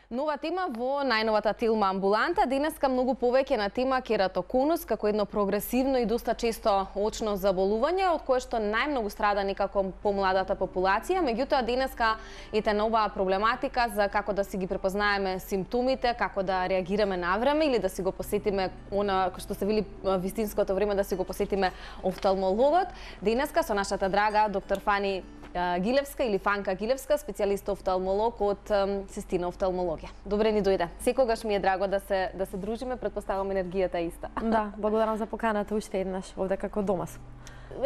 Нова тема во најновата Телма амбуланта. Денеска многу повеќе на тема кератоконус како едно прогресивно и доста често очно заболување, од кое што најмногу страда некако помладата популација. Меѓутоа денеска ете нова проблематика за како да си ги препознаеме симптомите, како да реагираме навреме или да си го посетиме она што се вели вистинското време да си го посетиме офталмологот. Денеска со нашата драга доктор Фани Гилевска или Фанка Гилевска, специјалист офталмолог од Сестина офталмологија. Добре ни дојде. Секогаш ми е драго да се дружиме, претпоставам енергијата е иста. Да, благодарам за поканата уште еднаш овде како дома сум.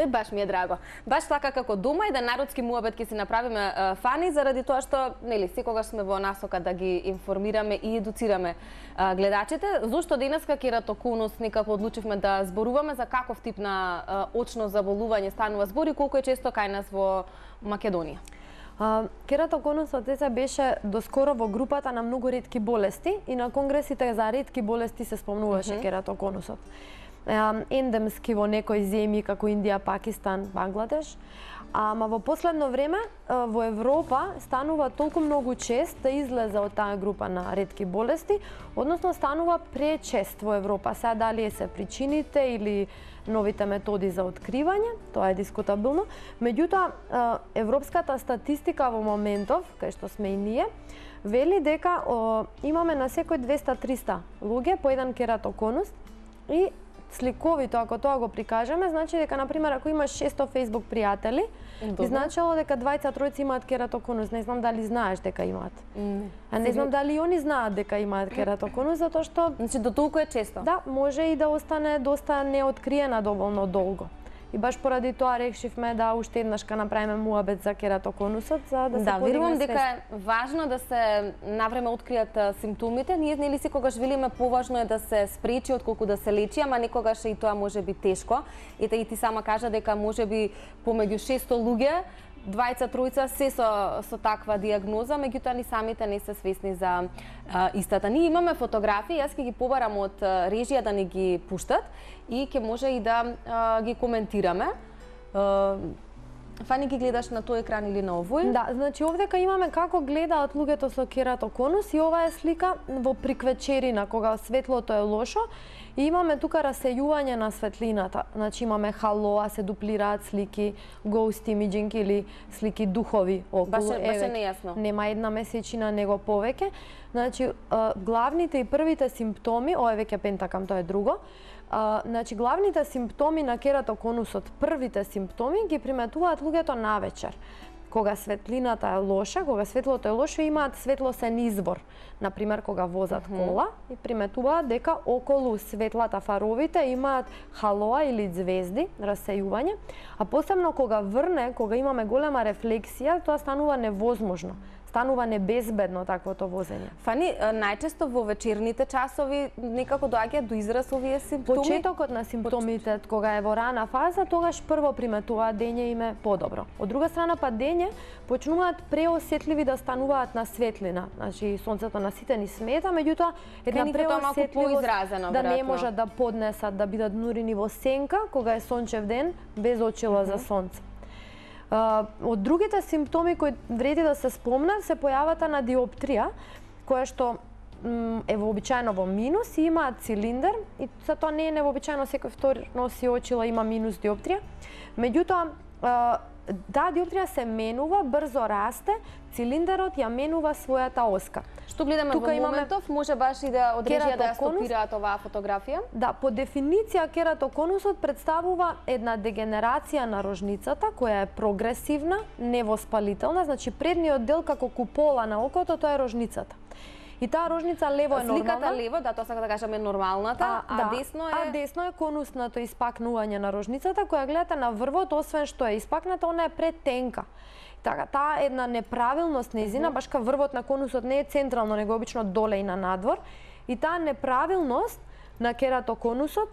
Баш ми е драго. Баш така како дома и да народски муабет ќе си направиме, Фани, заради тоа што нели секогаш сме во насока да ги информираме и едуцираме гледачите. Зошто денеска кератоконус некако одлучивме да зборуваме за каков тип на очно заболување станува збор и колку е често кај нас во Македонија? Кератоконусот беше доскоро во групата на многу ретки болести и на конгресите за ретки болести се спомнуваше кератоконусот. Ендемски во некои земји како Индија, Пакистан, Бангладеш. Ама во последно време во Европа станува толку многу чест да излезе од таа група на ретки болести, односно станува пречест во Европа. Сега дали се причините или новите методи за откривање, тоа е дискутабилно. Меѓутоа, европската статистика во моментов, кај што сме и ние, вели дека имаме на секој 200-300 луѓе по еден кератоконус и сликовито, ако тоа го прикажеме, значи дека, например, ако имаш 600 Facebook пријатели, би значило дека 20-тројци имаат кератоконус. Не знам дали знаеш дека имаат. А не знам дали и они знаат дека имаат кератоконус, затоа што... Значи, до толку е често? Да, може и да остане доста неоткриена доволно долго. И баш поради тоа решивме да уште еднаш ка направиме муабет за кератоконусот, за да се подигне свест. Верувам дека е важно да се навреме откријат симптомите. Ние нели секогаш велиме поважно е да се спречи отколку да се лечи, ама некогаш и тоа може би тешко. Ете и ти сама кажа дека може би помеѓу 600 луѓе 20-тројца се со таква диагноза, меѓутоа ни самите не се свесни за истата. Ние имаме фотографии, јас ќе ги побарам од режија да ни ги пуштат и ќе може и да ги коментираме. Фани, ги гледаш на тој екран или на овој? Да, значи овдека имаме како гледаат луѓето со кератоконус и ова е слика во приквечерина, кога светлото е лошо и имаме тука расејување на светлината. Значи имаме халоа, се дуплираат слики, ghost imaging или слики духови околу. Баш е нејасно. Нема една месечина, него повеќе. Значи главните и првите симптоми, ова е веќе пентакам, тоа е друго. Значи главните симптоми на кератоконусот, првите симптоми ги приметуваат луѓето навечер. Кога светлината е лоша, кога светлото е лошо, имаат светлосен извор. Например, кога возат кола и приметуваат дека околу светлата фаровите имаат халоа или звезди, расејување, а посебно кога врне, кога имаме голема рефлексија, тоа станува невозможно. Станува небезбедно таквото возење. Фани, најчесто во вечерните часови некако доаѓа до израз овие симптоми? Почетокот на симптомите, кога е во рана фаза, тогаш прво приметуваат дење им е подобро. Од друга страна па дење почнуваат преосетливи да стануваат на светлина. Значи сонцето на сите ни смета, меѓутоа една преосетливост да не можат да поднесат да бидат нурини во сенка кога е сончев ден без очила за сонце. Од другите симптоми кои вреди да се спомнат се појавата на диоптрија, која што е вообичаено во минус и имаат цилиндер и за тоа не е невообичаено, секој втори носи очила има минус диоптрија. Меѓутоа таа диоптрија се менува, брзо расте, цилиндерот ја менува својата оска. Што гледаме во моментов, може баш и да од режија да ја стопираат оваа фотографија? Да, по дефиниција кератоконусот представува една дегенерација на рожницата која е прогресивна, невоспалителна, значи предниот дел како купола на окото тоа е рожницата. И таа рожница лево е нормална. Сликата лево, да, тоа сака да кажеме нормалната, десно е конусното испакнување на рожницата, која гледате на врвот, освен што е испакната, она е претенка. Така, таа една неправилност нејзина, баш ка врвот на конусот не е централно, него обично доле и на надвор, и таа неправилност на кератоконусот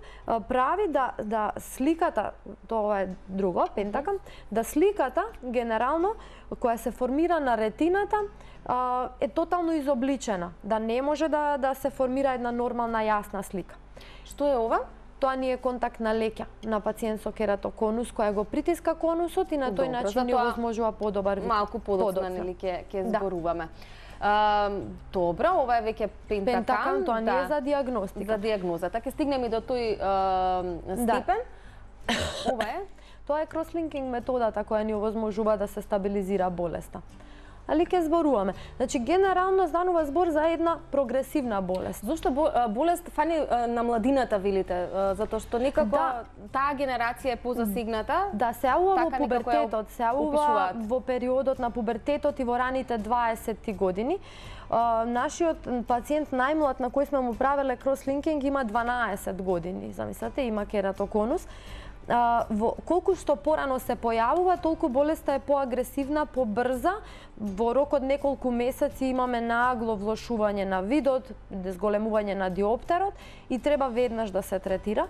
прави да сликата, тоа е друго, пентакам, да сликата генерално која се формира на ретината е тотално изобличена, да не може да се формира една нормална јасна слика. Што е ова? Тоа ни е контакт на леќа на пациент со кератоконус која го притиска конусот и на тој начин ни овозможува подобар вид. Малку подоцна нели ќе зборуваме. Добро, ова е веќе пентакам, тоа не е за диагностика. За диагнозата. Ќе стигнеме и до тој степен. Ова е? Тоа е кросслинкинг методата која ни овозможува да се стабилизира болеста. Али ќе зборуваме. Значи, генерално станува збор за една прогресивна болест. Зошто болест фани на младината, велите? Затоа што некако таа генерација е позасегната? Да, се јавува во пубертетот, се јавува во периодот на пубертетот и во раните 20 години. Нашиот пациент најмлад на кој сме му правеле кросслинкинг има 12 години. Замислете, има кератоконус. Колку што порано се појавува, толку болеста е поагресивна, побрза. Во рок од неколку месеци имаме нагло влошување на видот, зголемување на диоптерот и треба веднаш да се третира.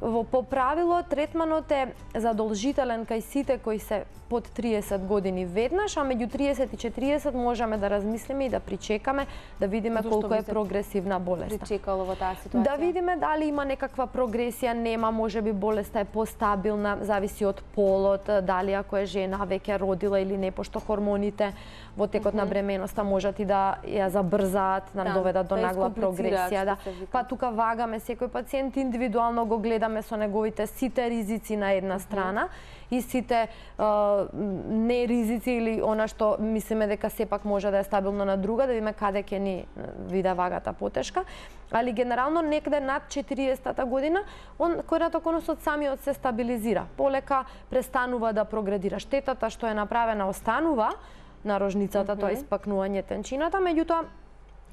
По правило, третманот е задолжителен кај сите кои се под 30 години веднаш, а меѓу 30 и 40 можеме да размислиме и да причекаме, да видиме колку е прогресивна болеста. Причекало во таа ситуација? Да видиме дали има некаква прогресија, нема, можеби болеста е постабилна, зависи од полот, дали ако е жена веќе родила или не, пошто хормоните во текот на бременоста можат и да ја забрзаат, да доведат до нагла прогресија. Па тука вагаме секој пациент индивидуално, го гледаме со неговите сите ризици на една страна и сите не ризици или она што мислиме дека сепак може да е стабилно на друга, да видиме каде ќе ни виде вагата потешка. Али генерално некаде над 40-та година кератоконусот самиот се стабилизира. Полека престанува да прогредира. Штетата што е направена останува на рожницата, тоа испакнување тенчината, меѓутоа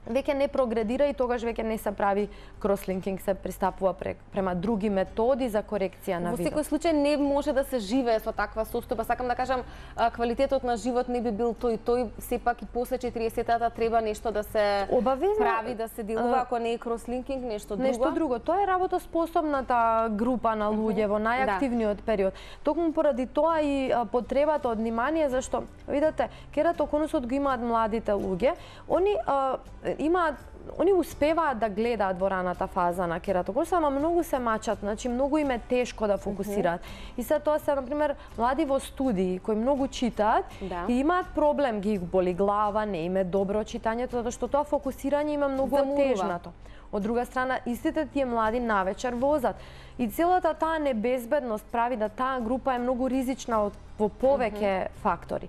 веќе не прогредира и тогаш веќе не се прави кросслинкинг, се пристапува према други методи за корекција на видот. Во секој случај не може да се живее со таква состојба. Сакам да кажам, квалитетот на живот не би бил тој сепак и после 40-тата треба нешто да се прави, да се делува, ако не е кросслинкинг, нешто друго. Нешто друго. Тоа е работоспособната група на луѓе во најактивниот период. Токму поради тоа и потребата од внимание, зашто видете, кератоконусот го имаат младите луѓе, они успеваат да гледаат во раната фаза на кератоконус, ама многу се мачат, значи многу им е тешко да фокусираат. И се тоа се, например, млади во студии кои многу читаат и имаат проблем, ги боли глава, не им е добро читањето, затоа што тоа фокусирање има многу отежнато. Од друга страна, истите тие млади навечер возат. И целата таа небезбедност прави да таа група е многу ризична во повеќе фактори.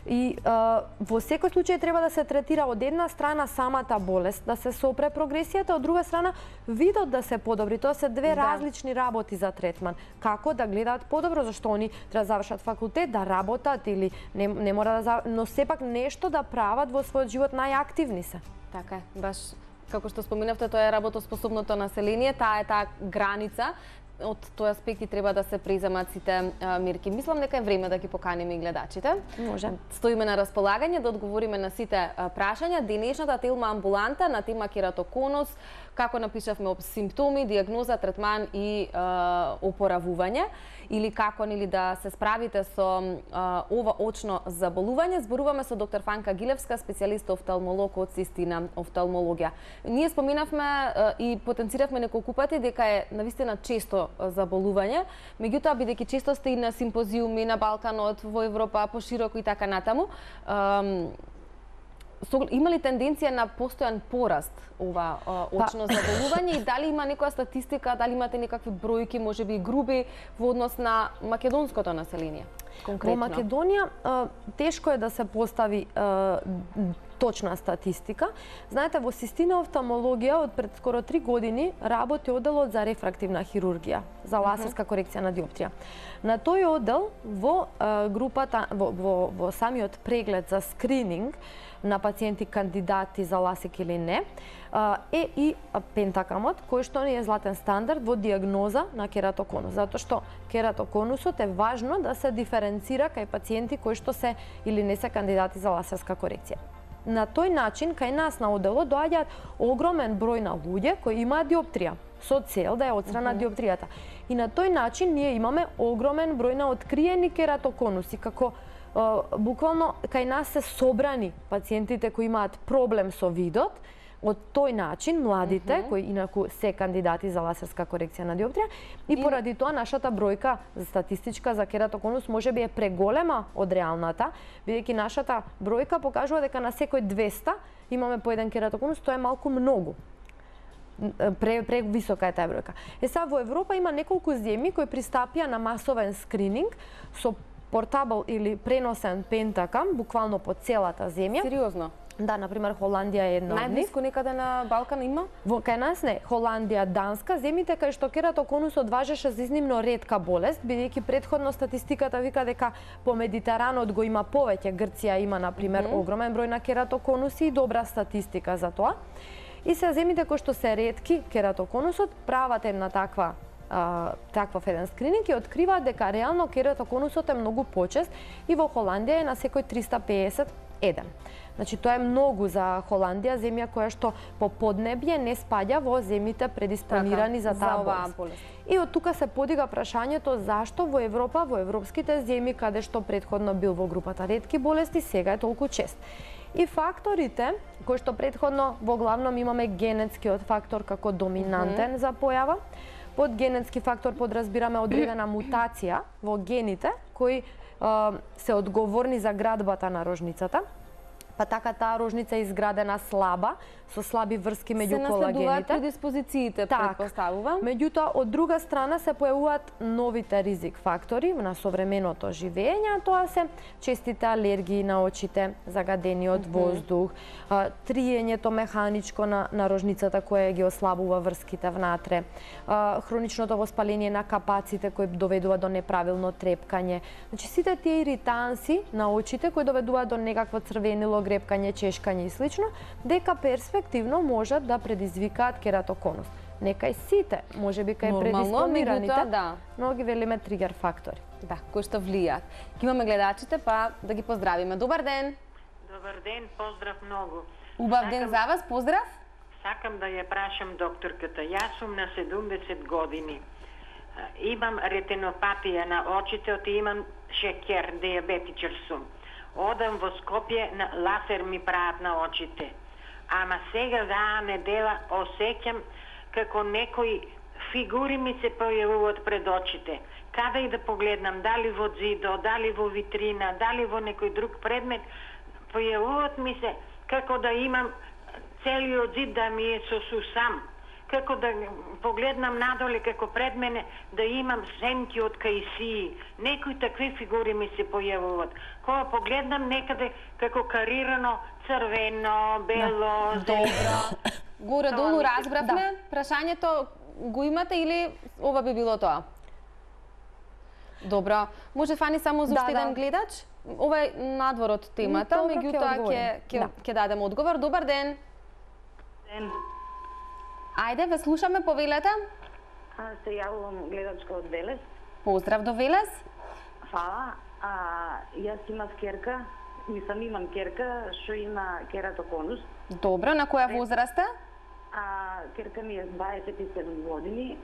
И во секој случај треба да се третира од една страна самата болест, да се сопре прогресијата, од друга страна видот да се подобри. Тоа се две различни работи за третман. Како да гледаат подобро, зашто они треба да завршат факултет, да работат или не мора да но сепак нешто да прават во својот живот, најактивни се. Така е, баш како што споменавте, тоа е работоспособното население, таа е таа граница. Од тој аспект и треба да се преземат сите мерки. Мислам дека е време да ги поканиме и гледачите. Може. Стоиме на располагање да одговориме на сите прашања. Денешната Телма амбуланта на тема кератоконус, како напишавме симптоми, диагноза, третман и опоравување, или како да се справите со ова очно заболување. Зборуваме со доктор Фанка Гилевска, специјалист офталмолог од Систина офталмологија. Ние споменавме и потенциравме неколку пати дека е навистина често заболување, меѓутоа бидејќи често сте и на симпозиуми на Балканот, во Европа, пошироко и така натаму, има ли тенденција на постојан пораст ова очно заболување и дали има некоја статистика, дали имате некакви бројки, можеби и груби, во однос на македонското население? Конкретно. Во Македонија тешко е да се постави точна статистика. Знаете, во Систина офталмологија од пред скоро 3 години работи оделот за рефрактивна хирургија, за лазерска корекција на диоптрија. На тој одел во групата во самиот преглед за скрининг на пациенти кандидати за ласик или не, е и пентакамот, кој што не е златен стандард во диагноза на кератоконус, затоа што кератоконусот е важно да се диференцира кај пациенти кои што се или не се кандидати за лазерска корекција. На тој начин кај нас на оделот доаѓаат огромен број на луѓе кои имаат диоптрија со цел да ја отстрана диоптријата. И на тој начин ние имаме огромен број на откриени кератоконуси, како буквално кај нас се собрани пациентите кои имаат проблем со видот, од тој начин младите кои инаку се кандидати за лазерска корекција на диоптрија и поради тоа нашата бројка статистичка за кератоконус можеби е преголема од реалната, бидејќи нашата бројка покажува дека на секој 200 имаме по еден кератоконус, тоа е малку многу. Висока е таа бројка. Сега во Европа има неколку земји кои пристапија на масовен скрининг со портабл или преносен пентакам, буквално по целата земја. Сериозно? Да, например, Холандија е една од нив. Најблиску некаде на Балкан има? Кај нас не. Холандија, Данска, земјите кај што кератоконусот важеше за изнimно ретка болест, бидејќи претходно статистиката вика дека по Медитеранот го има повеќе. Грција има, например, огромен број на кератоконуси и добра статистика за тоа. И се земјите кои што се ретки кератоконусот прават една таквав еден скрининг и откриваат дека реално кератоконусот е многу почест и во Холандија е на секој 351. Значи тоа е многу за Холандија, земја која што по поднебје не спаѓа во земјите предиспонирани за таа болест. И од тука се подига прашањето зашто во Европа, во европските земји каде што претходно бил во групата ретки болести, сега е толку чест. И факторите, кои што претходно во главном имаме генетскиот фактор како доминантен за појава. Под генетски фактор подразбираме одредена мутација во гените кои се одговорни за градбата на рожницата. Па така таа рожница е изградена слаба, со слаби врски меѓу колагените. Се наследуваат предиспозициите, претпоставувам. Меѓутоа, од друга страна се појавуваат новите ризик фактори на современото живење, тоа се честите алергии на очите, загадениот воздух, триењето механичко на рожницата кое ги ослабува врските внатре, хроничното воспаление на капаците кои доведува до неправилно трепкање. Значи сите тие иританси на очите кои доведуваат до некакво црвенило, грепкање, чешкање и слично, дека перспективно можат да предизвикаат кератоконус. Некај сите, можеби кај предиспонираните, но ги велиме тригер фактори. Да, кои што влијаат. Ки имаме гледачите, па да ги поздравиме. Добар ден! Добар ден, поздрав многу. Убав ден за вас, поздрав! Сакам да ја прашам докторката. Јас сум на 70 години. Имам ретинопатија на очите, и имам шекер, диабетичар сум. Одам во Скопје, на лазер ми прават на очите. Ама сега за недела осеќам како некои фигури ми се појавуваат пред очите. Каде и да погледнам, дали во зидо, дали во витрина, дали во некој друг предмет, појавуваат ми се како да имам целиот зид да ми е со сусам. Како да погледнам надоле, како пред мене, да имам сенки од кајсии. Некои такви фигури ми се појавуваат. Кога погледнам некаде како карирано, црвено, бело, зелено. Горе-долу разбравме, прашањето го имате или ова би било тоа? Добро. Може Фани само за уште еден гледач? Ова е надвор од темата, меѓутоа ќе дадем одговор. Добар ден. Ден. Ајде, ве слушаме, повелете. Се јавувам гледачка од Велес. Поздрав до Велес. Фала. Јас имам керка, имам керка што има кератоконус. Добро, на која возраст е? Керка ми е 27 години,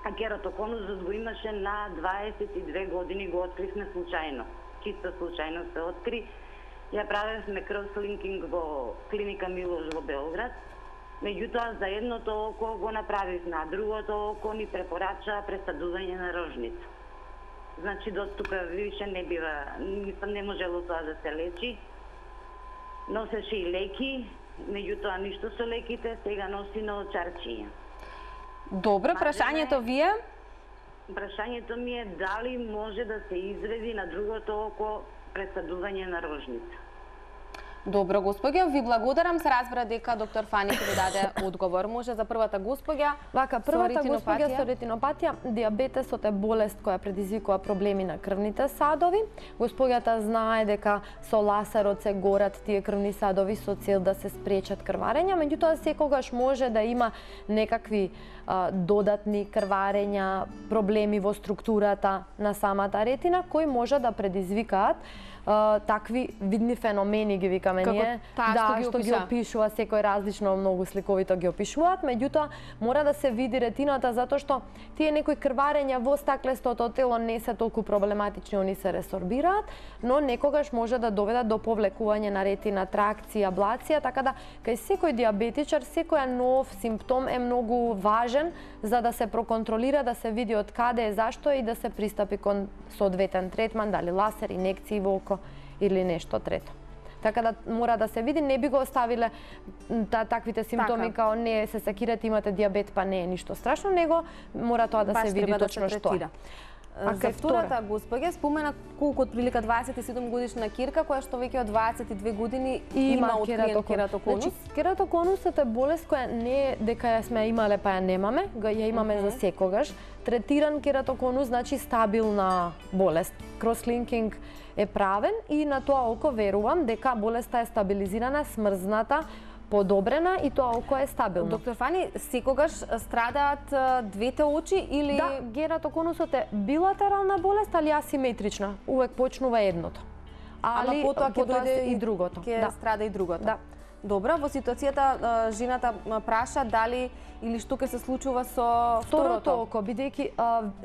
а кератоконусот го имаше на 22 години, го откривме случајно. Чисто случајно се откри. Ја правевме кросслинкинг во клиника Милош во Белград. Меѓутоа, за едното око го направивме, а другото око ни препорача пресадување на рожница. Значи, до тука више не бива, не можело тоа да се лечи. Носеше и леки, меѓутоа ништо со леките, сега носи на очарчиња. Добро, прашањето ви е? Прашањето ми е дали може да се изведи на другото око пресадување на рожница. Добро, господја, ви благодарам. Се разбра дека доктор Фани ќе ви даде одговор. Може за првата господја првата господја со ретинопатија, диабетесот е болест која предизвикува проблеми на крвните садови. Господјата знае дека со лазерот се горат тие крвни садови со цел да се спречат крварења, меѓутоа секогаш може да има некакви додатни крварења, проблеми во структурата на самата ретина кои може да предизвикаат такви видни феномени, ги викаме разбираме ние. Да, што ги опишува, секој различно многу сликовито ги опишуваат, меѓутоа мора да се види ретината затоа што тие некои крварења во стаклестото тело не се толку проблематични, они се ресорбираат, но некогаш може да доведат до повлекување на ретина, тракција, аблација, така да кај секој диабетичар секој нов симптом е многу важен за да се проконтролира, да се види од каде е, зашто е и да се пристапи кон соодветен третман, дали ласер, инекции во око или нешто трето. Така да мора да се види, не би го оставиле таквите симптоми као не се секирате, имате диабет, па не е ништо страшно, него мора тоа да се види точно што е. За втората госпоѓа спомена колку отприлика 27 годишна кирка која што веќе од 22 години има откриен кератоконус. Значи, кератоконусот е болест која не е дека ја сме имале па ја немаме, ја имаме за секогаш. Третиран кератоконус значи стабилна болест. Крослинкинг е правен и на тоа око верувам дека болеста е стабилизирана, смрзната, подобрена и тоа око е стабилно. Доктор Фани, секогаш страдаат двете очи или... Да, кератоконусот е билатерална болест, али асиметрична. Увек почнува едното. Ама потоа ќе дојде и другото. Ќе страда и другото. Да. Добро, во ситуацијата жената праша дали или што ќе се случува со второто око, бидејќи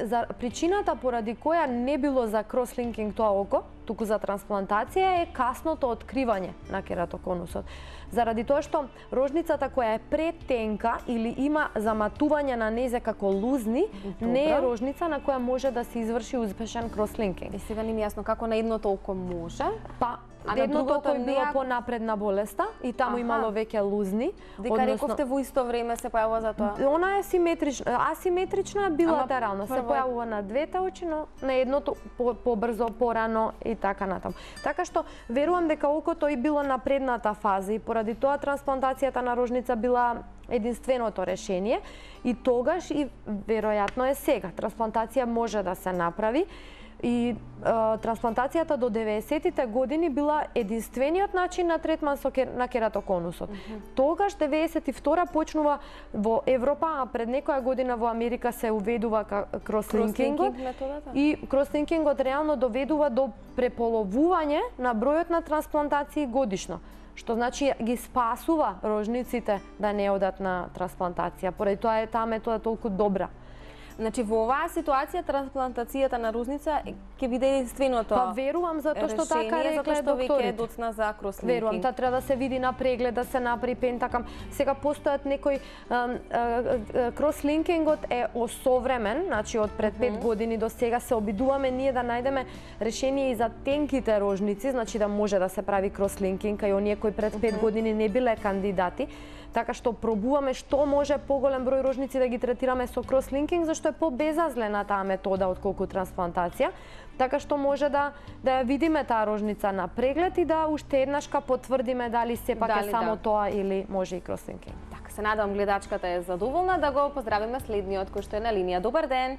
за причината поради која не било за крослинкинг тоа око, туку за трансплантација е касното откривање на кератоконусот. Заради тоа што рожницата која е претенка или има заматување на незе како лузни, не е рожница на која може да се изврши успешен крослинкинг. И сега не ми јасно како на едното око може? Па, едното око е било понапредна болеста и таму имало веќе лузни. Дека рековте во исто време се појавува за тоа? Она е асиметрична, билатерална. Се појавува на двете очи, но на едното побрзо, порано и така натаму. Така што верувам дека окото и било на предната фаза и поради тоа трансплантацијата на рожница била единственото решение и тогаш и веројатно е сега. Трансплантација може да се направи и трансплантацијата до 90-тите години била единствениот начин на третман на кератоконусот. Тогаш 92 почнува во Европа, а пред некоја година во Америка се уведува крослинкингот и крослинкингот реално доведува до преполовување на бројот на трансплантации годишно, што значи ги спасува рожниците да не одат на трансплантација. Поради тоа е таа метода толку добра. Значи во оваа ситуација трансплантацијата на рожница ќе биде единственото решение. Па верувам затоа што така рекле докторите. Доцна за крослинкинг. Верувам, таа треба да се види на преглед, да се направи пентакам. Сега постојат некои крослинкингот е осовремен, значи од пред 5 години до сега се обидуваме ние да најдеме решение и за тенките рожници, значи да може да се прави крослинкинг, кај оние кои пред 5 години не биле кандидати. Така што пробуваме што може поголем број рожници да ги третираме со крослинкинг, зашто е побезазлена таа метода отколку трансплантација. Така што може да ја видиме таа рожница на преглед и да уште еднашка потврдиме дали сепак е само тоа или може и крослинкинг. Така, се надевам гледачката е задоволна, да го поздравиме следниот кој што е на линија. Добар ден.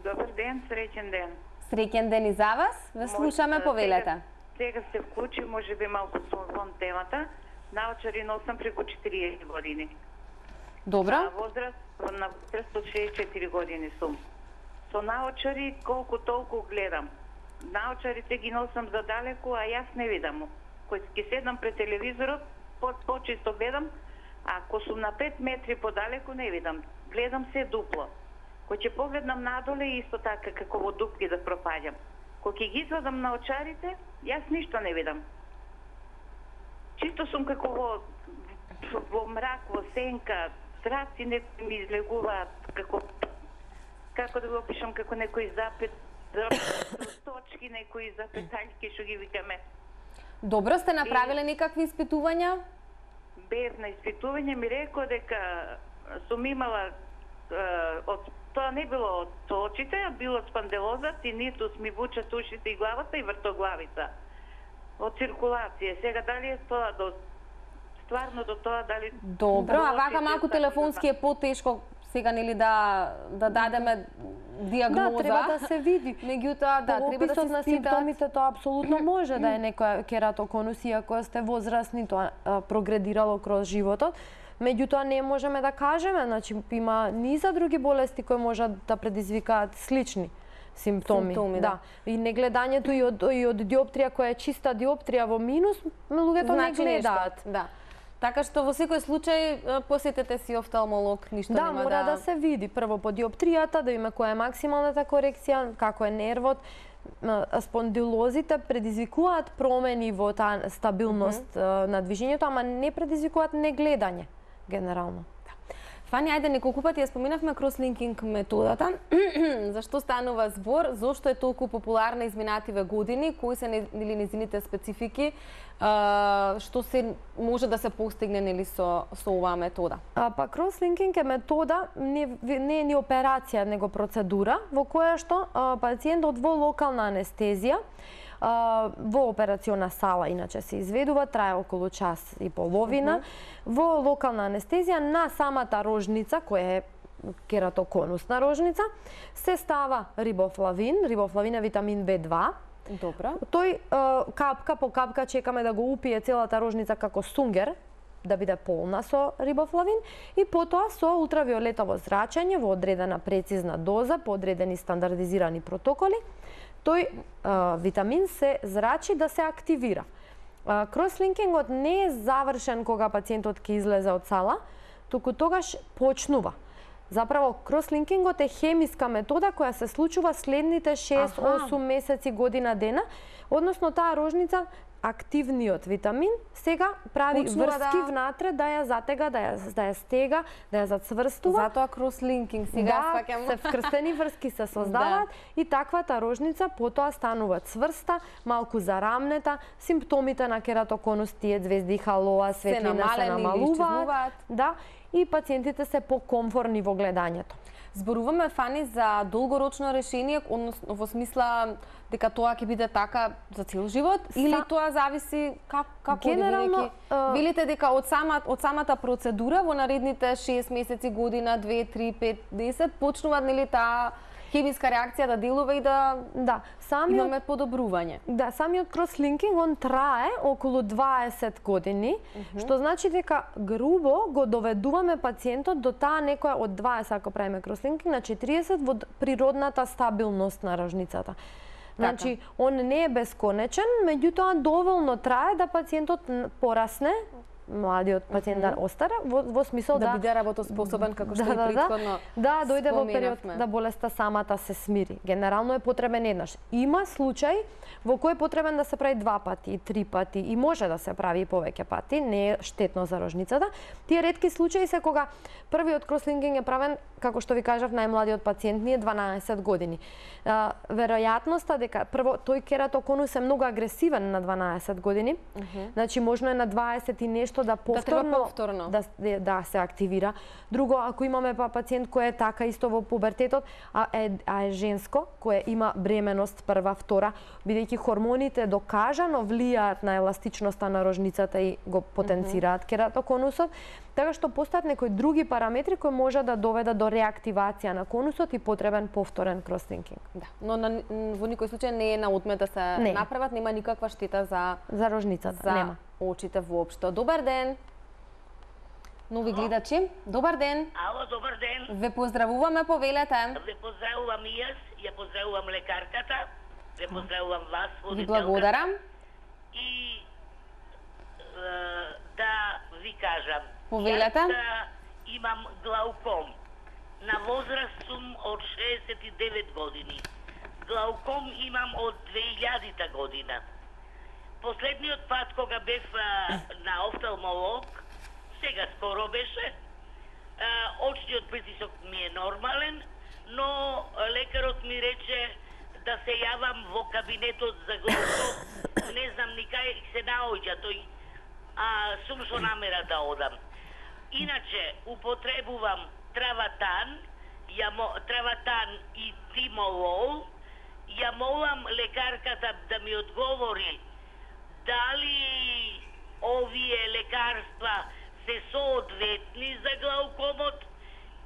Добар ден, среќен ден. Среќен ден и за вас. Ве слушаме, повелете. Сега се вклучи, може би малку со темата. Научари носам преку 40 години. Добро. На возраст од 64 години сум. Со научари колку толку гледам. Научарите ги носам задалеку, а јас не видам. Кој ќе седам пред телевизорот, почисто гледам, а ако сум на 5 метри подалеку не видам. Гледам се дупло. Кој ќе погледнам надоле исто така како во дупки да пропаѓам. Кој ќе ги извадам научарите, јас ништо не видам. Чисто сум како во мрак, во сенка, зраци некои ми излегуваат, како да го опишам, како некои точки, некои запетаljки, што ги викаме. Добро, сте направиле некакви испитувања? Без на испитување ми рекол дека сум имала, тоа не било од очите, а било спанделозат и нитус ми вучат ушите и главата и вртоглавица. Од циркулација. Сега дали е тоа стварно до тоа дали... Добро, а вака малку телефонски е потешко сега нели да дадеме диагноза. Да, треба да се види. Меѓутоа, да, треба да се на симптомите тоа апсолутно може да е некоја кератоконус, иако сте возрастни, тоа прогредирало кроз животот. Меѓутоа не можеме да кажеме, значи има низа други болести кои можат да предизвикаат слични симптоми, да. И негледањето и од диоптрија која е чиста диоптрија во минус, луѓето не гледаат. Да. Така што во секој случај посетете си офталмолог, ништо нема да... Да, мора да се види прво по диоптријата, да има која е максималната корекција, како е нервот. Спондилозите предизвикуваат промени во таа стабилност на движењето, ама не предизвикуваат негледање, генерално. Фани, ајде, неколку пати ја споминавме кросслинкинг методата. Зашто станува збор? Зошто е толку популарна изминативе години? Кои се или незините специфики? Што се може да се постигне нели со оваа метода? Па кросслинкинг е метода, не е ни операција, него процедура во која што пациентот во локална анестезија во операциона сала, иначе се изведува, трае околу час и половина, во локална анестезија на самата рожница, која е кератоконусна рожница, се става рибофлавин. Рибофлавин е витамин B2. Добро. Тој капка по капка чекаме да го упие целата рожница како сунгер, да биде полна со рибофлавин, и потоа со ултравиолетово зрачење во одредена прецизна доза, по одредени стандардизирани протоколи, тој витамин се зрачи да се активира. Кросслинкингот не е завршен кога пациентот ќе излезе од сала, туку тогаш почнува. Заправо, кросслинкингот е хемиска метода која се случува следните 6-8 месеци, година дена, односно таа рожница, активниот витамин, сега прави врски внатре да ја затега, да ја стега, да ја зацврстува. Затоа кросслинкинг, сега сваќам. Да, се вкрстени врски се создаваат и таквата рожница потоа станува цврста, малку зарамнета, симптомите на кератоконус, тие звезди, халоа, светлина се намалуваат. Да, и пациентите се покомфорни во гледањето. Зборуваме, Фани, за долгорочно решение, односно во смисла дека тоа ќе биде така за цел живот, или тоа зависи како генерално, велите дека од самата процедура во наредните 6 месеци, година, 2, 3, 5, 10 почнува нели таа хемиска реакција да делува и да имаме подобрување. Да, самиот кросслинкинг он трае околу 20 години, што значи дека грубо го доведуваме пациентот до таа некоја од 20, ако правиме кросслинкинг, на 40 во природната стабилност на рожницата. Значи, он не е бесконечен, меѓутоа доволно трае да пациентот порасне, младиот пациент да остаре, во смисол да биде работоспособен, како што и претходно да дојде во период да болеста самата се смири. Генерално е потребен еднаш. Има случај во кој е потребен да се прави 2 пати, 3 пати и може да се прави и повеќе пати, не е штетно за рожницата. Тие ретки случаи се кога првиот кросслинкинг е правен, како што ви кажав, најмладиот пациент ни е 12 години. Веројатноста дека прво тој кератоконус е многу агресивен на 12 години. Значи можно е на 20 и нешто да повторно да се активира. Друго, ако имаме пациент кој е така исто во пубертетот, а е женско, кој има бременост прва, втора, бидејќи хормоните докажано влијаат на еластичноста на рожницата и го потенцираат кератоконусот, така што постојат некои други параметри кои може да доведат до реактивација на конусот и потребен повторен кросслинкинг. Да, но во никој случај не е на одмет да се направат, нема никаква штета за рожницата, нема. Очите воопшто. Добар ден. Нови гледачи. Добар ден. Ало, добар ден. Ве поздравуваме, повелете. Ве поздравувам и јас, ја поздравувам лекарката, ве поздравувам вас, ви благодарам. И да ви кажам, повелете. Јас имам глауком. На возраст сум од 69 години. Глауком имам од 2000-та година. Последниот пат кога бев на офталмолог, сега скоро беше, очниот притисок ми е нормален, но лекарот ми рече да се јавам во кабинетот за глауком, не знам ни кај се наоѓа тој, сум со намера да одам. Иначе употребувам траватан и тимолол. Ја молам лекарката да ми одговори дали овие лекарства се соодветни за глаукомот.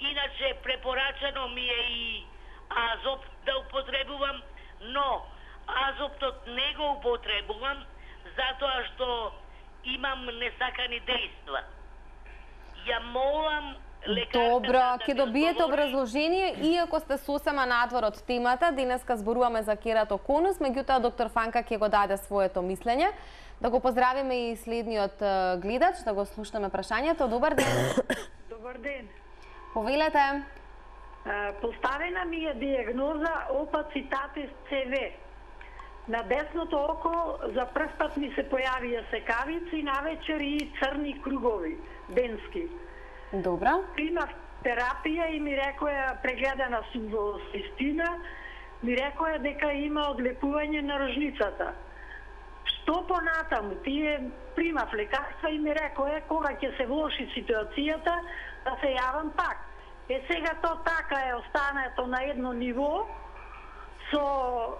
Иначе препорачано ми е и азоп да употребувам, но азоптот не го употребувам затоа што имам несакани дејства. Ја молам Добро, ќе добиете образложение, иако сте сосема надвор од темата. Денеска зборуваме за кератоконус, меѓутоа доктор Фанка ќе го даде своето мислење. Да го поздравиме и следниот гледач, да го слушнеме прашањето. Добар ден. Добар ден. Повелете. Поставена ми е диагноза опацитатис ЦВ. На десното око за прв пат ми се појавија секавици, навечер и црни кругови, денски. Добра. Примав терапија и ми рекоја, прегледана сум во Систина, ми рекоја дека има одлепување на рожницата. Што понатаму? Тие примав лекарства и ми рекоја кога ќе се влоши ситуацијата да се јавам пак. Сега то така е останато на едно ниво, со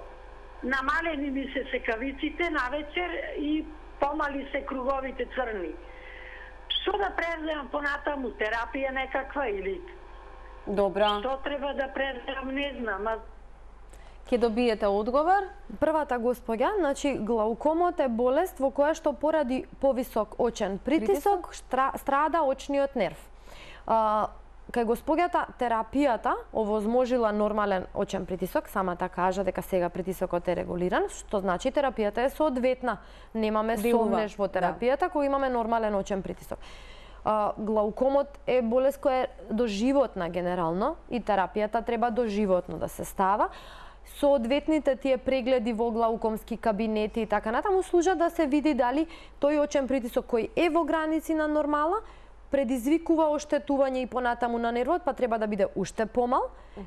намалени ми се секавиците навечер и помали се круговите црни. Што да преземам понатаму? Терапија некаква или? Добро. Што треба да преземам, не знам. Ќе добиете одговор. Првата господја, значи глаукомот е болест во која што поради повисок очен притисок страда очниот нерв. Кај господјата терапијата овозможила нормален очен притисок, самата кажа дека сега притисокот е регулиран, што значи терапијата е соодветна. Немаме сомнеш во терапијата кога имаме нормален очен притисок. Глаукомот е болест која е доживотна генерално и терапијата треба доживотно да се става. Соодветните тие прегледи во глаукомски кабинети и така натаму служат да се види дали тој очен притисок кој е во граници на нормала предизвикува оштетување и понатаму на нервот, па треба да биде уште помал,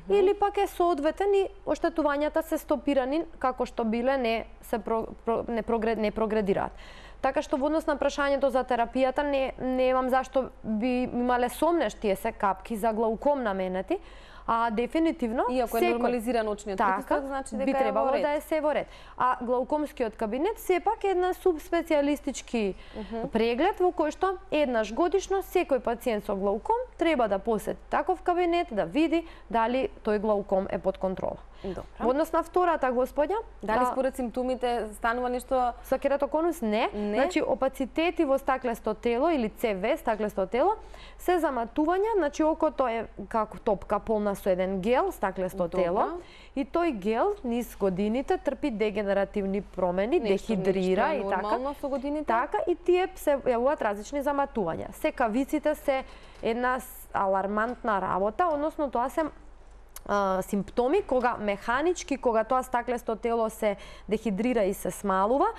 или пак е соодветен и оштетувањата се стопирани како што биле не прогредираат. Така што во однос на прашањето за терапијата немам зашто би имале сомнеш тие се капки за глауком наменети, а дефинитивно иако е нормализиран очниот притисок, значи дека би требало да е се во ред. А глаукомскиот кабинет сепак е една субспецијалистички преглед во кој што еднаш годишно секој пациент со глауком треба да посети таков кабинет да види дали тој глауком е под контрола. Во однос на втората господја, дали според симптомите станува нешто со кератоконус? Не. Значи опацитети во стаклесто тело или ЦВ, стаклесто тело, се заматувања, значи окото е како топка полна со еден гел, стаклесто тело, и тој гел низ годините трпи дегенеративни промени, дехидрира и така. Со годините? Така и тие се јавуваат различни заматувања. Секавиците се една алармантна работа, односно тоа се симптоми кога механички, кога тоа стаклесто тело се дехидрира и се смалува,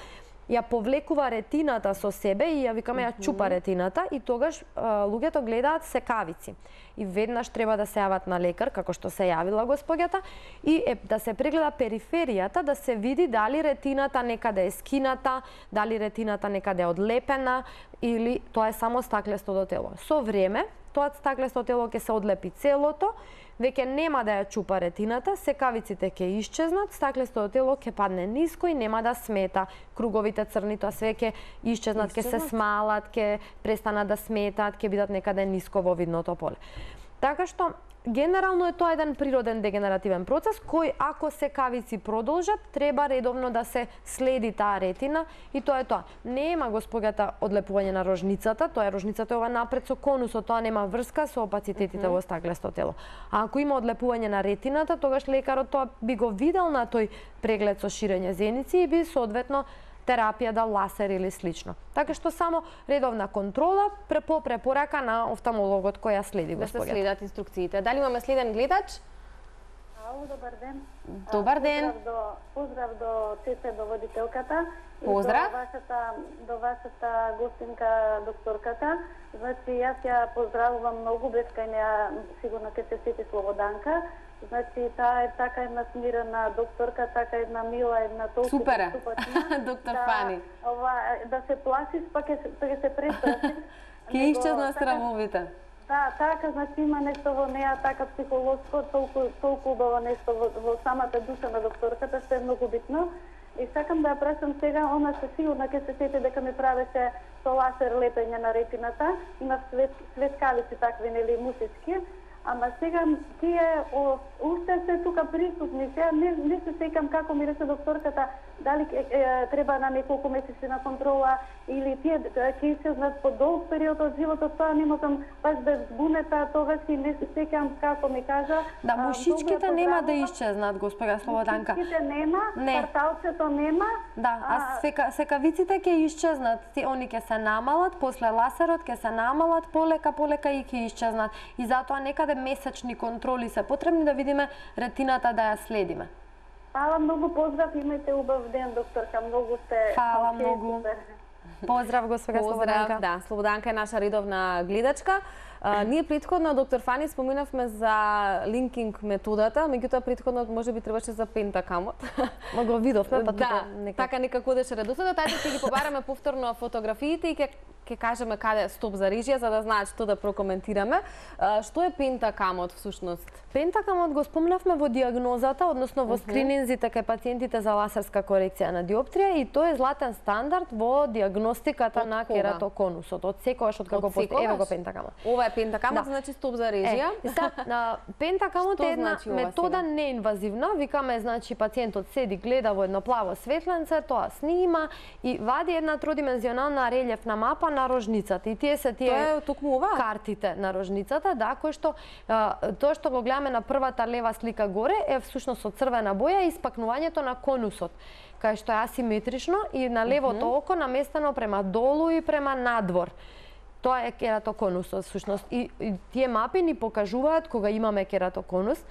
ја повлекува ретината со себе и ја викаме ја чупа ретината и тогаш луѓето гледаат секавици. И веднаш треба да се јават на лекар, како што се јавила господјата, и да се прегледа периферијата, да се види дали ретината некаде е скината, дали ретината некаде е одлепена или тоа е само стаклестото тело. Со време, тоа стаклесто тело ќе се одлепи целото, веќе нема да ја чупа ретината, секавиците ќе исчезнат, стаклестото тело ќе падне ниско и нема да смета. Круговите црни тоа све ќе исчезнат, ќе се смалат, ќе престанат да сметат, ќе бидат некаде ниско во видното поле. Така што генерално е тоа еден природен дегенеративен процес кој ако секавици продолжат, треба редовно да се следи таа ретина и тоа е тоа. Нема господјата одлепување на рожницата, тоа е рожницата ова напред со конусот, тоа нема врска со опацитетите во стаклесто тело. А ако има одлепување на ретината, тогаш лекарот тоа би го видел на тој преглед со ширење зеници и би соодветно терапија да ласер или слично. Така што само редовна контрола по препорака на офталмологот која следи господјата. Да се следат инструкциите. Дали имаме следен гледач? Ало, добар ден. Добар ден. Поздрав до ЦЦ, до водителката. Поздрав. До вашата гостинка, докторката. Значи, јас ја поздравувам многу, без кај неа сигурно ќе се сети Слободанка. Значи, таа е така една смирена докторка, така една мила, една толку ступачна. Доктор Фани. Да се плашиш, па ќе се преплашиш. Ќе исчезна страмовите. Да, така, значи има нешто во неа, така психолошко, толку убаво нешто во самата душа на докторката, што е многу битно. И сакам да ја прашам сега, она се сигурно ќе се сети дека ми правеше со ласер лепење на ретината, има светкавици такви, нели, мусички, ама сега тие уште се тука присутни. Сега не се сеќам како ми рече докторката, дали треба на неколку месеци на контрола или тие ќе исчезнат по долг период од животот, тоа не можам баш без збунета, тогаш и не се сеќам како ми кажа. Да, мушичките нема да исчезнат, госпожа Слободанка. Мушичките нема, кварталцето нема. Да, а секавиците ќе исчезнат. Они ќе се намалат, после ласерот ќе се намалат, полека и ќе исчезнат. И затоа некаде месечни контроли се потребни да видиме ретината да ја следиме. Фала многу, поздрав, имајте убав ден, докторка, многу сте... Фала многу. Поздрав, госпожа Слободанка. Да, Слободанка е наша редовна гледачка. Ние претходно, доктор Фани, споминавме за линкинг методата, меѓутоа претходно можеби требаше за пентакамот. Ма го видовме, па да, така некако одеше редосledот. Тајде ќе ги побараме повторно фотографиите и ќе кажеме каде стоп за режија, за да знаат што да прокоментираме. Што е пентакамот всушност? Пентакамот го спомнавме во диагнозата, односно во скрининзите кај пациентите за ласерска корекција на диоптрија, и тој е златен стандард во диагностиката на кератоконусот. Од секогаш од како постои, еве го пентакамот. Ова е пентакамот, значи стоп за режија. Пентакамот е една метода неинвазивна, викаме, значи пациентот седи, гледа во едно плаво светленце, тоа снима и вади една тродимензионална релјефна мапа на рожницата. И тие се картите на рожницата, да, кои што тоа што го гледаме на првата лева слика горе е всушност од црвена боја испакнувањето на конусот, кај што е асиметрично и на левото око наместено према долу и према надвор. Тоа е кератоконусот всушност. И тие мапи ни покажуваат кога имаме кератоконус,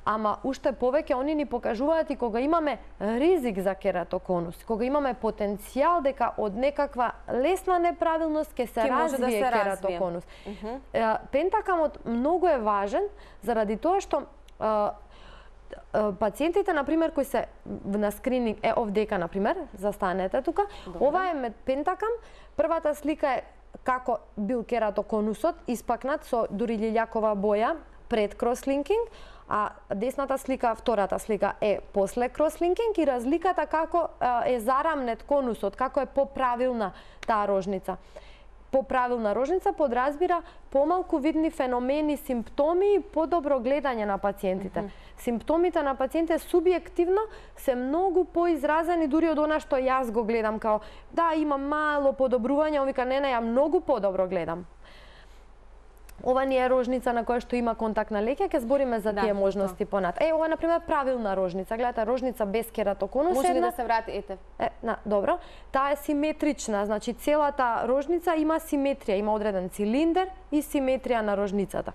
ама уште повеќе они ни покажуваат и кога имаме ризик за кератоконус, кога имаме потенцијал дека од некаква лесна неправилност ќе се развие кератоконус. Пентакамот многу е важен заради тоа што пациентите, например, кои се на скрининг, овдека, например, застанете тука, ова е пентакам, првата слика е како бил кератоконусот, испакнат со дури лилјакова боја пред крослинкинг, а десната слика, втората слика е после крослинкинг и разликата како е зарамнет конусот, како е поправилна таа рожница. Поправилна рожница подразбира помалку видни феномени, симптоми и подобро гледање на пациентите. Симптомите на пациентите субјективно се многу поизразени дури од она што јас го гледам, као да, има мало подобрување, он вика не, ја многу подобро гледам. Ова не е рожница на која што има контактна леќа, ќе збориме за тие можности понат. Ова е, например, правилна рожница. Гледате, рожница без кератоконус. Може ли да се врати, ете? Добро. Таа е симетрична, значи целата рожница има симетрија, има одреден цилиндер и симетрија на рожницата.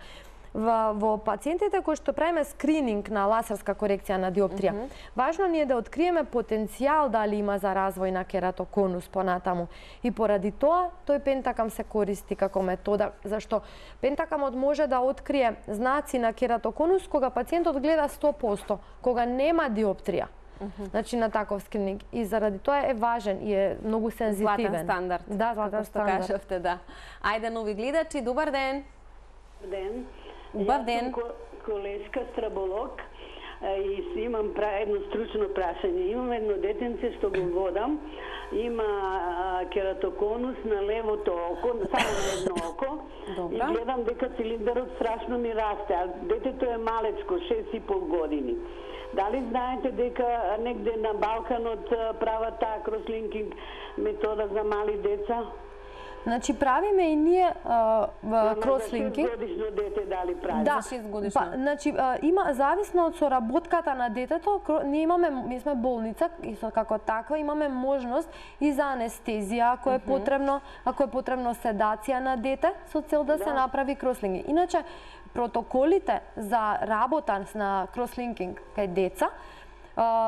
Во пациентите кои што правиме скрининг на ласерска корекција на диоптрија, важно ни е да откриеме потенцијал дали има за развој на кератоконус понатаму. И поради тоа, тој пентакам се користи како метода, зашто пентакамот може да открие знаци на кератоконус кога пациентот гледа 100%, кога нема диоптрија. Значи на таков скрининг. И заради тоа е важен и е многу сензитивен. Златен стандард. Да, златен стандард. Кажавте, да. Ајде, нови гледачи, добар ден. Добар ден. Убав ден. Колешка страволог и имам едно стручно прашање. Имам едно детенце што го водам, има кератоконус на левото око, само на едно око. И гледам дека цилиндарот страшно ми расте, а детето е малечко, 6,5 години. Дали знаете дека негде на Балканот прават таа крослинкинг метода за мали деца? Значи правиме и ние крослинкинг. За 6 годишно дете дали прави? Да, за 6 годишно. Значи има зависно од соработката на детето, ние сме болница и како таква имаме можност и за анестезија ако е потребно, седација на дете со цел да се направи крослинкинг. Иначе протоколите за работа на крослинкинг кај деца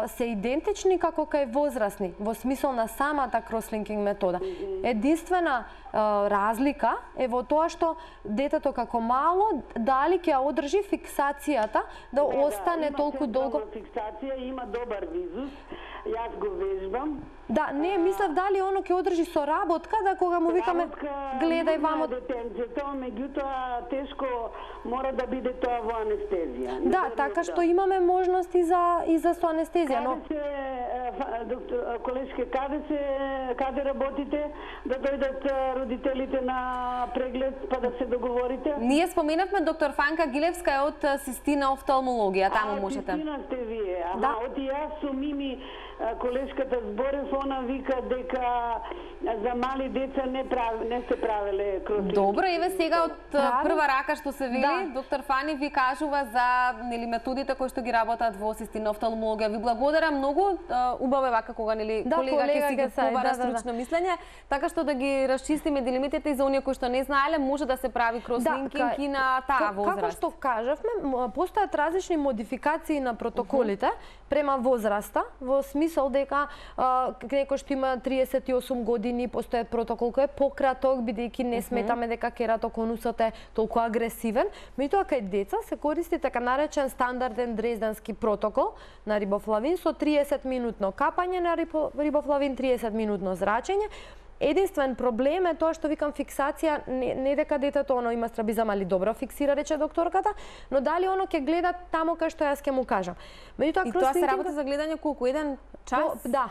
се идентични како кај возрастни, во смисол на самата крослинкинг метода. Единствена разлика е во тоа што детето како мало дали ќе одржи фиксацијата да остане толку долго. Фиксација има добар визус. Јас го вежбам. Да, не, мислев дали оно ќе одржи соработка, да кога му викаме гледај вамо. Детенцето, меѓутоа тешко мора да биде тоа во анестезија. Да, така што имаме можности и за со анестезија, но каде се доктор колешке, каде работите, да дојдат родителите на преглед, па да се договорите? Ние споменавме доктор Фанка Гилевска е од Систина офталмологија, таму можете. Систина сте вие, Да. Оти јас со Мими, колешката зборев, она вика дека за мали деца не се правеле крослинки. Добро, еве сега од прва рака што се вели, Да. доктор Фани ви кажува за методите кои што ги работат во Систина офталмологија. Ви благодарам многу, убаво е вака кога колега ќе си ги побара стручно мислење, така што да ги расчистиме дилемитите и за оние кои што не знаеле, може да се прави крослинкинг и на таа возраст. Како што кажавме, постојат различни модификации на протоколите према возраста, во смисол дека некој што има 38 години, постојат протокол кој е пократок, бидејќи не сметаме дека кератоконусот е толку агресивен. Меѓутоа кај деца се користи така наречен стандарден дрезденски протокол на рибофлавин со 30 минутно капање на рибофлавин, 30 минутно зрачење. Единствен проблем е тоа што викам фиксација, не дека детето има страбизам, али добро фиксира, рече докторката, но дали оно ќе гледа тамо кај што јас ќе му кажам. Меѓутоа и тоа се работи за гледање колку, 1 час? Да.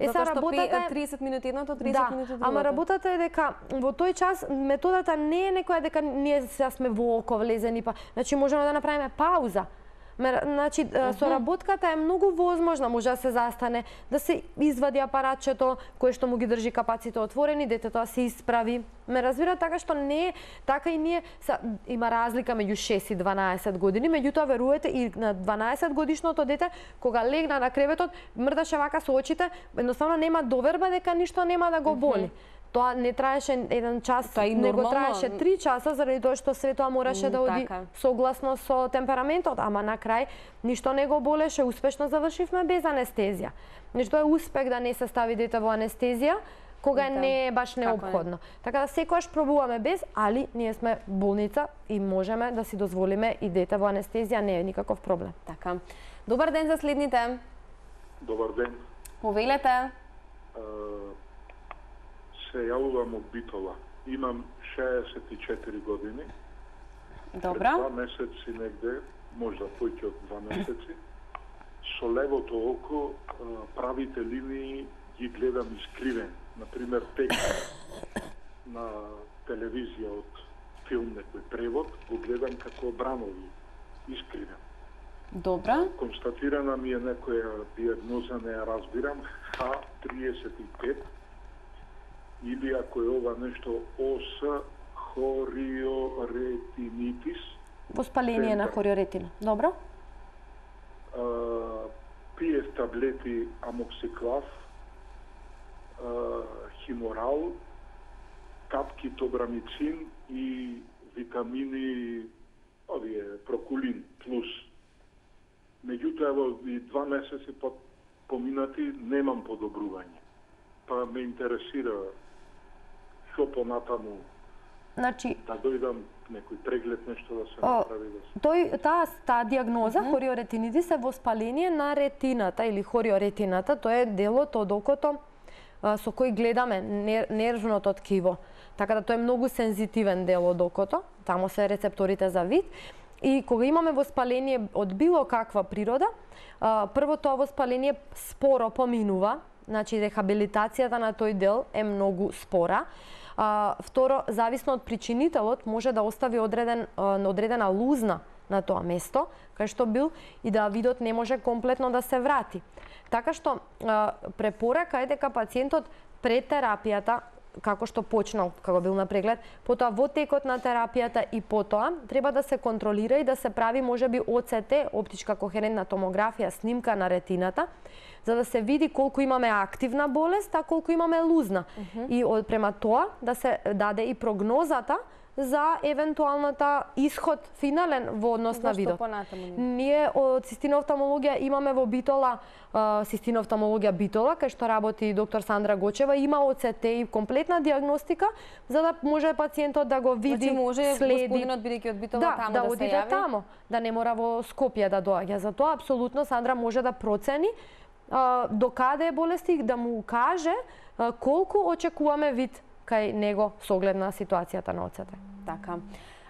Затоа што 30 минути едното, 30 минути другото. Ама работата е дека во тој час методата не е некоја дека ние сега сме во око влезени, па значи можеме да направиме пауза. Значи, соработката е многу возможна, може да се застане, да се извади апаратчето кое што му ги држи капаците отворени, детето се исправи. Ме разбира, така што не е, така и ние, има разлика меѓу 6 и 12 години, меѓутоа веруете и на 12 годишното дете, кога легна на креветот, мрдаше вака со очите, едноставно нема доверба дека ништо нема да го боли. Тоа не траеше 1 час, него траеше 3 часа, заради тоа што све тоа мораше да оди согласно со темпераментот, ама на крај ништо не го болеше, успешно завршивме без анестезија. Значи тоа е успех да не се стави дете во анестезија, кога не е баш неопходно. Така да секогаш пробуваме без, али ние сме болница и можеме да си дозволиме и дете во анестезија, не е никаков проблем. Така. Добар ден за следните. Добар ден. Повелете. Се јавувам од Битола. Имам 64 години. Добро. Пред 2 месеци негде, можда поќе од 2 месеци, со левото око правите линии ги гледам искривен. Например, текст на телевизија од филм, некој превод, го гледам како бранови, искривен. Добро. Констатирана ми е некоја диагноза, не ја разбирам, H35, или ако е ова нешто ОС хориоретинитис. Воспаление на хориоретина. Добро. Пиев таблети амоксиклав, химорал, капки тобрамицин и витамини, овие, прокулин плюс. Меѓутоа, во 2 месеци поминати, немам подобрување. Па ме интересира што понатаму, значи, да дојдам некој преглед, нешто да се направи. Таа диагноза, хориоретинитис, е воспаление на ретината или хориоретината, тоа е делот од окото со кој гледаме нервното ткиво. Така да тоа е многу сензитивен дел од окото, таму се рецепторите за вид. И кога имаме воспаление од било каква природа, прво тоа воспаление споро поминува, значи рехабилитацијата на тој дел е многу спора. Второ, зависно од причинителот, може да остави одредена лузна на тоа место, кај што бил, и да видот не може комплетно да се врати. Така што препорака е дека пациентот пред терапијата, како што почнал, како бил на преглед, потоа во текот на терапијата и потоа треба да се контролира и да се прави можеби ОЦТ, оптичка кохерентна томографија, снимка на ретината, за да се види колку имаме активна болест, а колку имаме лузна. И према тоа да се даде и прогнозата за евентуалната исход финален во однос на видот. Ние од Систина офталмологија имаме во Битола, Систина офталмологија Битола, кај што работи доктор Сандра Гочева, има ОЦТ и комплетна диагностика, за да може пациентот да го види, значи може следи. господинот бидејќи од Битола таму да се оди јави? тамо, да не мора во Скопје да доаѓа. Затоа апсолутно Сандра може да процени до каде е болести, да му каже колку очекуваме вид кај него со оглед на ситуацијата на ОЦТ. Така.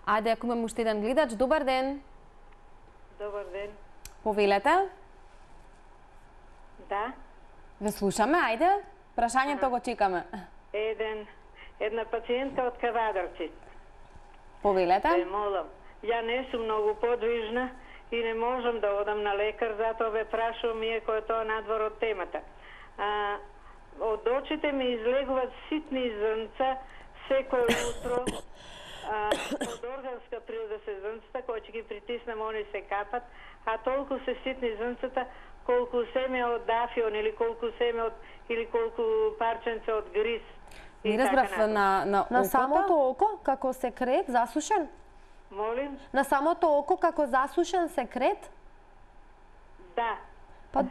Ајде, ако имаме уште еден гледач, добар ден. Добар ден. Повелете. Да. Ве слушаме, ајде, прашањето го чекаме. Една пациентка од Кавадарци. Повелете. Молам, ја не сум многу подвижна и не можам да одам на лекар, затоа ве прашувам иако е тоа надвор од темата. Од очите ми излегуваат ситни зрнца секој утро. Од органска природа се зрнцата, кои ќе ги притиснам, они се капат, а толку се ситни зрнцата, колку семе од дафион или колку семе од или колку парченце од гриз. Не разбрав на окото? На самото око како секрет засушен? Молим? На самото око како засушен секрет? Да. Па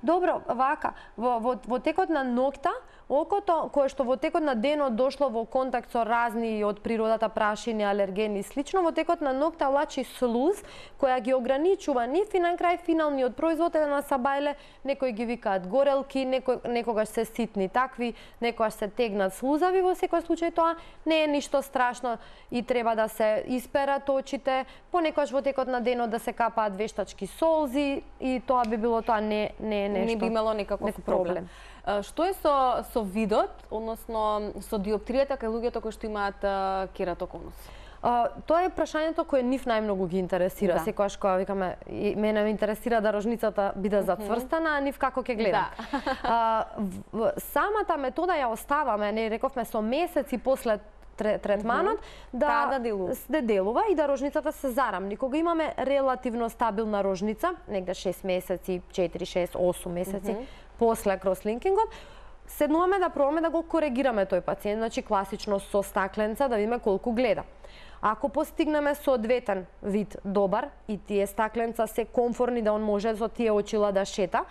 добро, вака, во текот на ноќта, окото кое што во текот на денот дошло во контакт со разни од природата прашини, алергени и слично, во текот на ноќта влачи слуз која ги ограничува нив и на крај финалниот производ е на сабајле, некои ги викаат горелки, некогаш се ситни такви, некогаш се тегнат слузави, во секој случај тоа не е ништо страшно и треба да се исперат очите, понекогаш во текот на денот да се капаат вештачки солзи и тоа би било тоа не е нешто. Не би имало некаков проблем. Што е со видот, односно со диоптријата кај луѓето кои што имаат кератоконус? Тоа е прашањето кое нив најмногу ги интересира. Да. Секогаш кога викаме, мене ме интересира да рожницата биде зацврстана, а нив како ќе гледам. Да. Самата метода ја оставаме, не рековме со месеци после третманот да делува и да рожницата се зарамни. Кога имаме релативно стабилна рожница, негде 6 месеци, 4, 6, 8 месеци после крослинкингот, седнуваме да пробаме да го коригираме тој пациент, значи класично со стакленца да видиме колку гледа. Ако постигнеме соодветен вид добар и тие стакленца се комфорни да он може со тие очила да шета,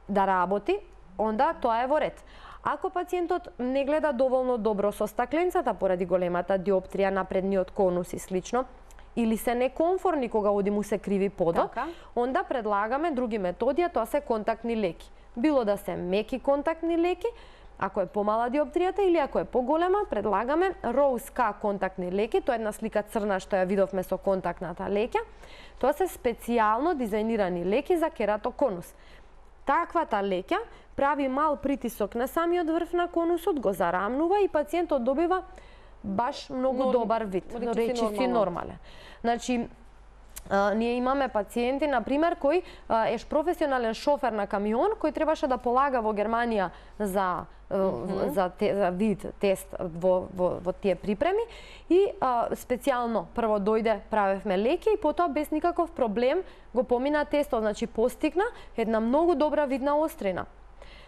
да работи, онда тоа е во ред. Ако пациентот не гледа доволно добро со стакленцата поради големата диоптрија на предниот конус и слично, или се некомфорни кога оди му се криви подот, онда предлагаме други методи, а тоа се контактни леки. Било да се меки контактни леки, ако е помала диоптријата, или ако е поголема, предлагаме Rose K контактни леки, тоа е една слика црна што ја видовме со контактната лекја. Тоа се специјално дизајнирани леки за кератоконус. Таквата лекја прави мал притисок на самиот врв на конусот, го зарамнува и пациентот добива баш многу добар вид, речиси нормален. Значи, ние имаме пациенти, например, кој е професионален шофер на камион, кој требаше да полага во Германија за вид тест во тие припреми и специјално прво дојде, правевме леки и потоа без никаков проблем го помина тестот, значи постигна една многу добра видна острина.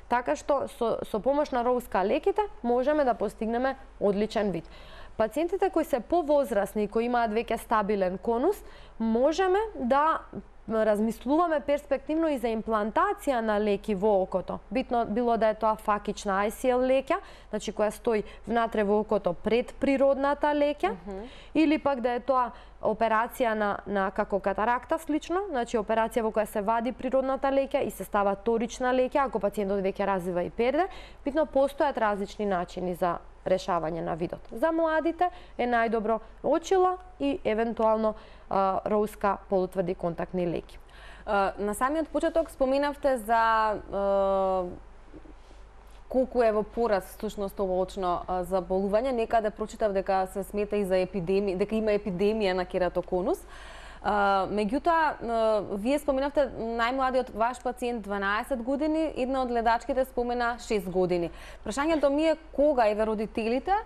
Така што со помош на Rose K леките можеме да постигнеме одличен вид. Пациентите кои се повозрасни и кои имаат веќе стабилен конус, можеме да размислуваме перспективно и за имплантација на леки во окото. Битно било да е тоа факична ICL лекја, значи која стои внатре во окото пред природната лекја, или пак да е тоа операција на како катаракта слично, значи операција во која се вади природната лекја и се става торична лекја, ако пациентот веќе развива и перде. Битно постојат различни начини за решавање на видот. За младите е најдобро очила и евентуално Rose K полутврди контактни леки. На самиот почеток споменавте за колку е во пораст всушност ово очно заболување. Некаде прочитав дека се смета и за епидемија, дека има епидемија на кератоконус. Меѓутоа, вие споменавте најмладиот ваш пациент 12 години, една од гледачките спомена 6 години. Прашањето ми е кога еве родителите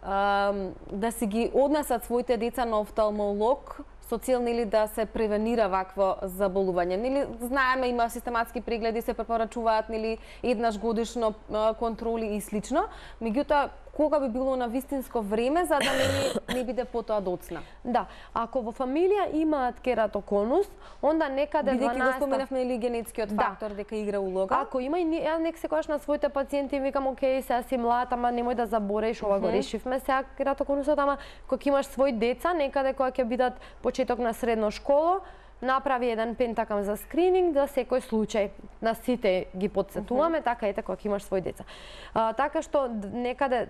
да си ги однесат своите деца на офталмолог со цел нели да се превенира вакво заболување. Нели знаеме има систематски прегледи, се препорачуваат нели еднаш годишно контроли и слично. Меѓутоа кога би било на вистинско време за да не биде потоа доцна? Да, ако во фамилија имаат кератоконус, онда некаде 12... Бидејќи го споменавме или генетскиот фактор дека игра улога. Ако има и ја нек секогаш на своите пациенти им викам, окей, сега си млад, ама немој да забореш, ова го решивме сега кератоконусот, ама кога имаш свој деца, некаде кога ќе бидат почеток на средно школо, направи еден пентакам за скрининг за секој случај. На сите ги подсетуваме, така ете кога имаш своји деца. Така што некаде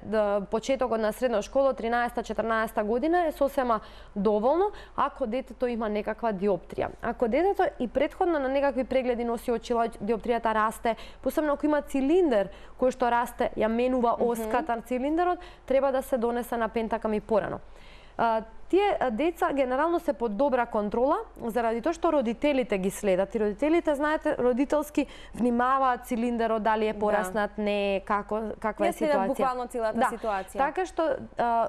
почетокот на средна школа, 13-14 година е сосема доволно ако детето има некаква диоптрија. Ако детето и претходно на некакви прегледи носи очила, диоптријата расте, посебно ако има цилиндер кој што расте, ја менува оската на цилиндерот, треба да се донесе на пентакам и порано. Тие деца генерално се под добра контрола, заради тоа што родителите ги следат. И родителите, знаете, родителски внимаваат цилиндерот, дали е пораснат, не, каква е ситуација. Буквално целата ситуација. Така што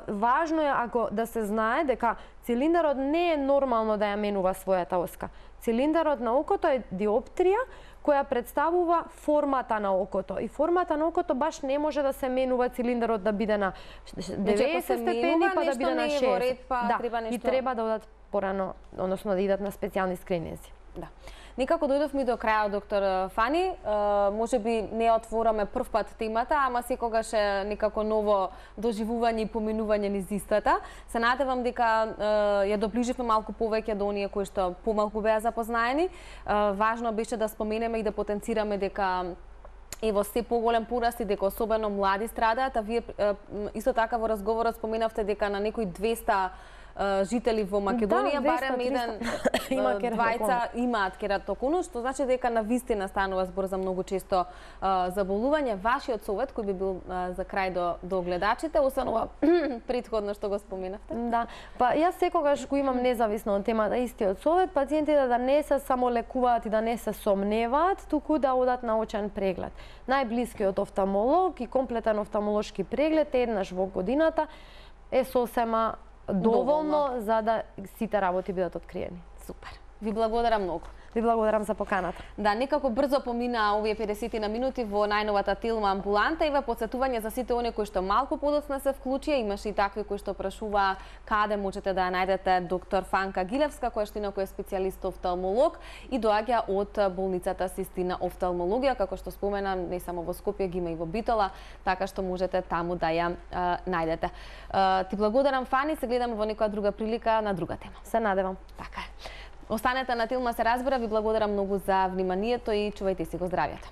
важно е ако да се знае дека цилиндерот не е нормално да ја менува својата оска. Цилиндерот на окото е диоптрија која представува формата на окото. И формата на окото баш не може да се менува цилиндерот да биде на 90 степени, па да биде на 60. И треба да одат порано, односно да идат на специјални скрининзи. Да. Некако дојдовме до крајот, доктор Фани. Може би не отвораме прв пат темата, ама секогаш е некако ново доживување и поминување низ истата. Се надевам дека ја доближивме малку повеќе до оние кои што помалку беа запознаени. Важно беше да споменеме и да потенцираме дека во се поголем пораст и дека особено млади страдаат, а вие исто така во разговорот споменавте дека на некои 200 жители во Македонија, барем двајца имаат кератоконус, што значи дека на вистина станува збор за многу често заболување. Вашиот совет кој би бил за крај до гледачите, освен ова претходно што го споменавте? Да, па јас секогаш го имам независно од темата истиот совет, пациентите да не се само лекуваат и да не се сомневаат, туку да одат на очен преглед. Најблискиот офталмолог и комплетен офталмолошки преглед еднаш во годината е сосема доволно за да сите работи бидат откриени. Супер. Ви благодарам многу. Ви благодарам за поканата. Да, некако брзо помина овие 50 на минути во најновата Тилма амбуланта и во подсетување за сите оние кои што малку подоцна се вклучија. Имаше и такви кои што прашуваа каде можете да ја најдете доктор Фанка Гилевска, која што инаку е специјалист офталмолог и доаѓа од болницата Систина офталмологија, како што спомена, не само во Скопје, ги има и во Битола, така што можете таму да ја најдете. Ти благодарам, Фани, се гледаме во некоја друга прилика на друга тема. Се надевам. Така е. Останете на Тилма се разбира, ви благодарам многу за вниманието и чувајте си го здравјето.